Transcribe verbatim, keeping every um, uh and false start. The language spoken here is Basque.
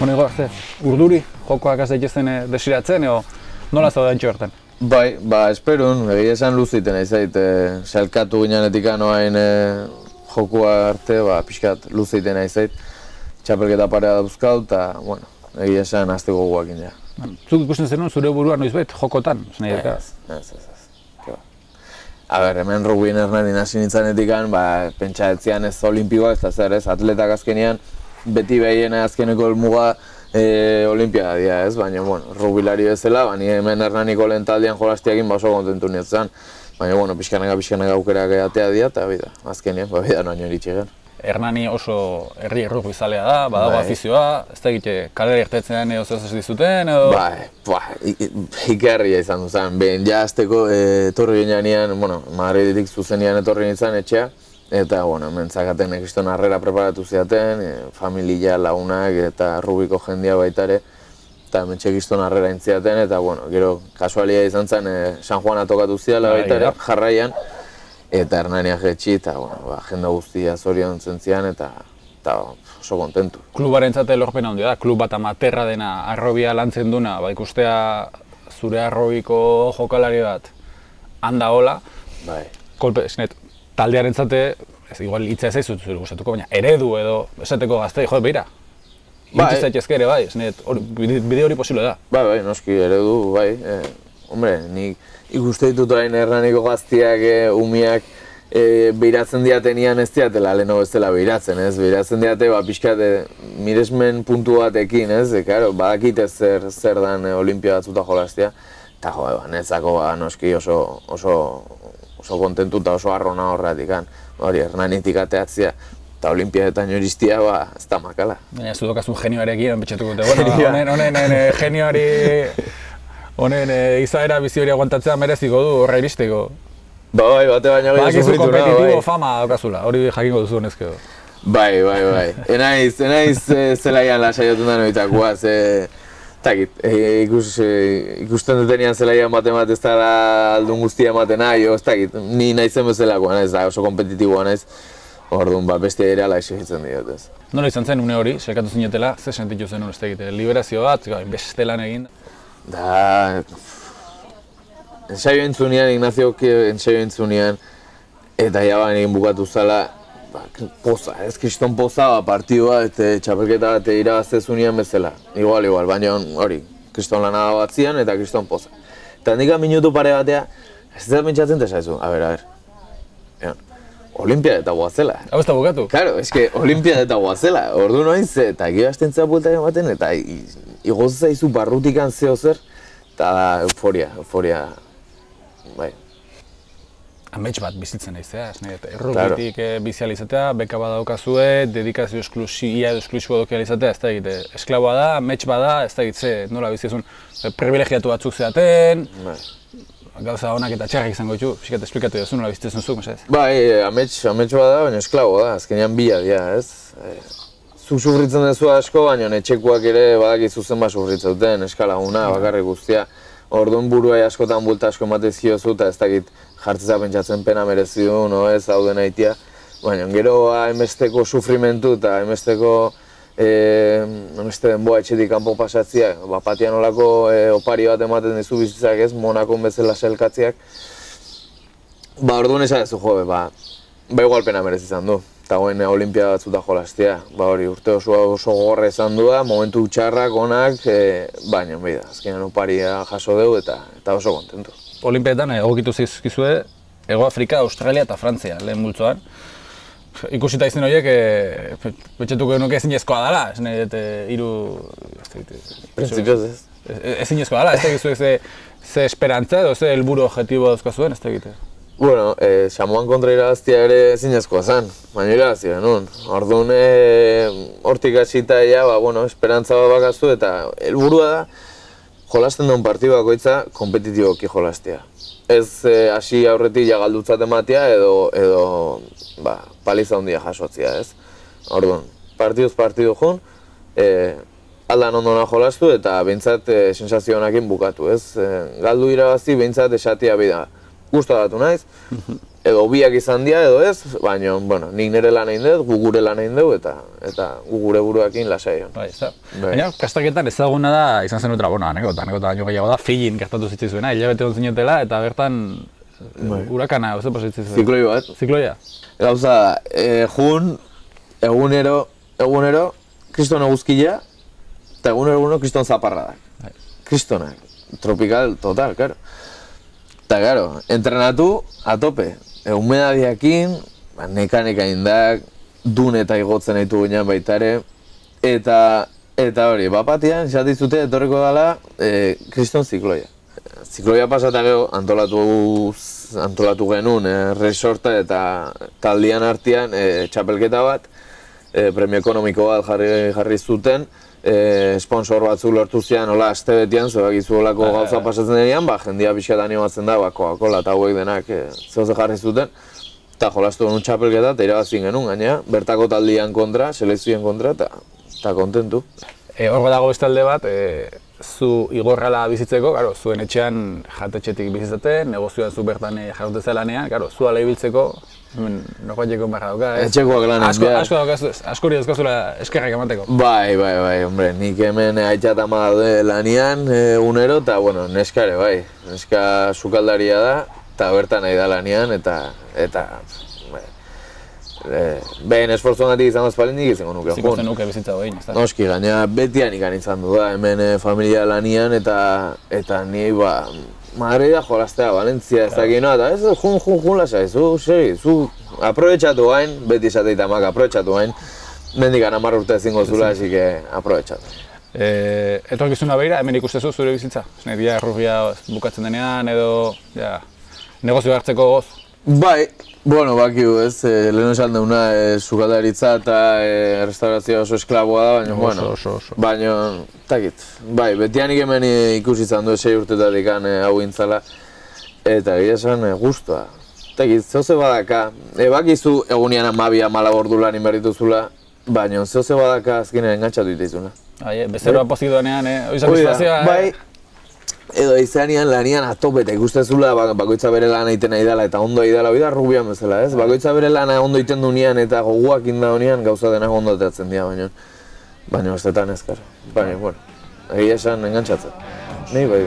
Bueno, arte, urduri, jokoak az daitezen desiratzen, edo nola zaude antxo bertan? Bai, ba, esperun, egia esan luziten aizait, e, salkatu ginenetik anoain e, jokua arte, ba, pixkat luziten aizait, txapelketa parea dauzkau, eta, bueno, egia esan azteko guakin ja. Zuk ikusten zenuen zure burua noizbait, jokotan? Ez, ez, ez, ez. A ber, hemen rugbien Hernani hasi nintzanetik, ba, pentsa etzian ez olimpikoak, ez zer ez, atletak azkenean, beti behiena azkeneko helmuga e, olimpiada dira, ez? Baina, bueno, rugbilari bezala, bani hemen Hernaniko lehen taldean jolastiakin ba oso kontentu nietzen. Baina, bueno, pixkanaka, pixkanaka aukerak atea dira, eta bida, azkenean, ba, bida noaino iritsi gen. Hernani oso herri errugbizalea da, badago afizioa, ez da egite kalera irtetzen edo zer dizuten, edo... Bai, ba, ikerria izan duzen, behin ja azteko etorri ginean, bueno, Madridetik zuzenian etorri nintzen etxea, eta, bueno, mentzakaten ekiston harrera preparatu ziaten, e, familia, lagunak eta rubiko jendia baitare, eta mentxe ekiston harrera intziaten, eta, bueno, gero, kasualia izan zen, e, San Juana tokatu ziala baitare, jarraian, eta Hernania jetxi, eta, bueno, ba, jende guztia zorion zentzian, eta, eta oso kontentu. Klubaren zate lorpena handia da, klub bat amaterra dena, arrobia lantzen duna, ba, ikustea zure arrobiko jokalari bat, handa hola, bai. Kolpe, esnet, taldearen zate, ez, igual hitza ez aizut zure gustatuko, baina eredu edo esateko gaztei, jo, beira, hitz zaitezke ere, bai, esnet, bide hori posible da. Bai, bai, noski, eredu, bai, e, hombre, nik ikuste ditut orain Hernaniko gaztiak, e, umiak, e, behiratzen diatenian ez diatela leheno bezala behiratzen, ez? Behiratzen diate, ba, pixkat, e, miresmen puntu batekin, ez? E, karo, badakite zer, zer dan e, olimpia batzuta jolastia, eta jo, ba, netzako, ba, noski oso, oso, oso kontentu eta oso arrona horretik, hori, Hernanitik ateatzia, eta olimpiadetan joristia, ba, ez da makala. Baina, zu dokazun genioarekin, betxetuko dute, bueno, honen, honen, honen, genioari... Honen izaera bizi hori aguantatzea mereziko du, horra iristeko. Ba, bai, bate baina gehiago sufritu nahi, bai. Kompetitibo fama daukazula, hori jakingo duzu honezkeo. Bai, bai, bai. Enaiz, enaiz zelaian lasaiotun da noitakoa, ze... Takit, ikusten dutenian zelaian bate bat ez da aldun guztia ematen nahi, ez dakit, ni naizen bezalakoa naiz, oso kompetitiboa naiz. Orduan, ba, bestia ere ala exigitzen diot, ez. Nola izan zen une hori, selkatu zinetela, ze sentitu zen ez dakit, liberazio bat, beste lan egin? Da... Ensaio entzunean, Ignaziok ensaio entzunean, eta jaban egin bukatu zala, ba, poza, ez kriston poza, ba, partidua, eta txapelketa bat irabaztezunean bezala. Igual, igual, baina hori, kriston lana bat zian eta kriston poza. Eta handikan minutu pare batea, ez da pentsatzen tesaizu, a ber, a ber. Ja. Olimpiada eta guazela. Hau ez da bukatu? Claro, eske Olimpiada eta guazela. Ordu noiz, eta gero astentzea bueltak ematen, eta igoz zaizu barrutikan zeo zer, eta euforia, euforia, bai. Amets bat bizitzen naizea, errugitik bizializatea, beka badaukazue, dedikazio esklusia edo esklusibo dokializatea, ez da egite, esklaboa da, amets bada, ez da egitze, nola bizizun, privilegiatu batzuk zeaten, gauza honak eta txarrak izango ditu, pixkat esplikatu duzu nola bizitezen zuk, mesedez? Bai, amets bada, baina esklabo da, azkenean bila dira, ez? Zuk sufritzen duzu asko, baina etxekuak ere badakizu zenbat sufritzen duten, eskalaguna, bakarrik guztia. Orduan buruai askotan bulta asko ematez ziozu, eta ez dakit jartzeza pentsatzen pena merezi du, no ez, hau den aitia. Baina gero hainbesteko sufrimentu eta hainbesteko hainbeste denboa etxetik kanpo pasatzia, bapatian olako opari bat ematen dizu bizitzak ez, Monakon bezala selkatziak. Ba, orduan esan ez du jo, ba, ba igual pena merezi izan du. Eta goen olimpiada batzuta jolastia, ba hori urte oso oso gogorra izan du da, momentu txarrak, onak, e, baina behi da, azkenean oparia jaso dugu eta, eta oso kontentu. Olimpiadetan egokitu zizkizue, Ego Afrika, Australia eta Frantzia lehen multzoan. Ikusita izen horiek, e, betxetuko nuke ezinezkoa dela, ez nahi dut hiru... Printzipioz ez. Ezinezkoa dela, ez da egizuek ze, ze esperantza edo ze helburu objektibo dauzkazuen, ez da egite. Bueno, eh, Samoan kontra irabaztia ere ezinezkoa zen, baina irabazia genuen. Orduan, hortik hasita ja, ba, bueno, esperantza bat bakazu eta helburua da jolasten duen partidu bakoitza kompetitiboki jolastea. Ez hasi eh, aurretik ja galdutzat ematea edo, edo ba, paliza handia jasotzia, ez? Orduan, partiduz partidu joan, eh, aldan ondona jolastu eta behintzat eh, sensazio honakin bukatu, ez? Eh, galdu irabazi behintzat esatia bida. Gusta datu naiz, edo biak izan dira edo ez, baina, bueno, nik nire lan egin dut, gu gure lan egin dut, eta, eta gu gure buruakin lasai. Bai, ez da. Baina, kastaketan ezaguna da, izan zen dutela, bueno, anekota, anekota baino gehiago da, Fijin gertatu zitzizuena, hilabete hon zinetela, eta bertan hurakana, ez da pasitzizuena. Zikloi bat. Zikloia. Gauza, e, jun, egunero, egunero, kriston eguzkila, eta egunero egunero kriston zaparradak. Kristonak, tropikal, total, karo. Eta, karo, entrenatu, a tope. Humedadiakin, neka-neka indak, dun eta igotzen ditu ginean baitare, eta, eta hori, bapatian, esatizute etorriko dela, e, kriston zikloia. Zikloia pasata gero, antolatu, antolatu genuen, e, resorta eta taldian artean, e, txapelketa bat, e, premio ekonomiko bat jarri, jarri zuten, e, sponsor batzuk lortu zian, hola, aste betian, zoak izu holako gauza pasatzen denean, ba, jendia pixkat animatzen da, ba, Coca-Cola eta hauek denak e, zehose jarri zuten, eta jolastu genuen txapelketa, eta irabazin genuen, gaina, bertako taldian kontra, selekzioen kontra, eta kontentu. E, hor dago beste alde bat, e, zu igorrala bizitzeko, karo, zuen etxean jatetxetik bizitzaten, negozioan zu bertan jarroteza lanean, karo, zu ala ibiltzeko, norbaiteko barra dauka, ez? Etxekoak lanen asko, behar. asko daukazu, askori dauzkazula eskerrak emateko. Bai, bai, bai, hombre, nik hemen aitxat ama daude lanean, egunero, eta, bueno, neskare, bai, neska sukaldaria da, eta bertan nahi da lanean, eta, eta, Eh, behin esfortzuan gatik izan dazpalin nik izango nuke. Ziko zen nuke bizitza behin, ez da? Noski, gaina betian ikan izan du da, hemen eh, familia lanian eta eta ni ba, Madrida jolaztea, Valentzia ez dakit noa, eta ez, jun, jun, jun lasai, zu, seri, zu, aprobetxatu gain, beti esateita mak, aprobetxatu gain, mendikan hamar urte ezingo zula, hasi que aprobetxatu. Eh, etorkizuna behira, hemen ikustezu zure bizitza? Neria errugia bukatzen denean edo, ja, negozio hartzeko goz? Bai, bueno, bakiu ez, eh, lehen esan deuna eh, sukaldaritza eta eh, restaurazioa oso esklaboa da, baina, bueno, oso, oso. baina, takit, bai, betianik hemen ikusi izan du sei urtetatik eh, hau intzala, eta gira esan eh, guztua. Takit, zehose badaka, e, bakizu egunean amabia mala ordu lan inberrituzula, baina zehose badaka azkenean engantzatu ditizuna. Bai, bezeroa pozik doanean, eh? Oizak bizitazioa, eh? Bai, edo izanean lanian atopeta ikustezula bakoitza bere lana egiten nahi dela eta ondo egin dela, hori da rubian bezala, ez? Bakoitza bere lana ondo egiten dunean eta goguak inda honean gauza denak ondo ateatzen dira, baina baina bestetan ezkar. Baina, bueno, egia esan engantzatzen. Nei bai,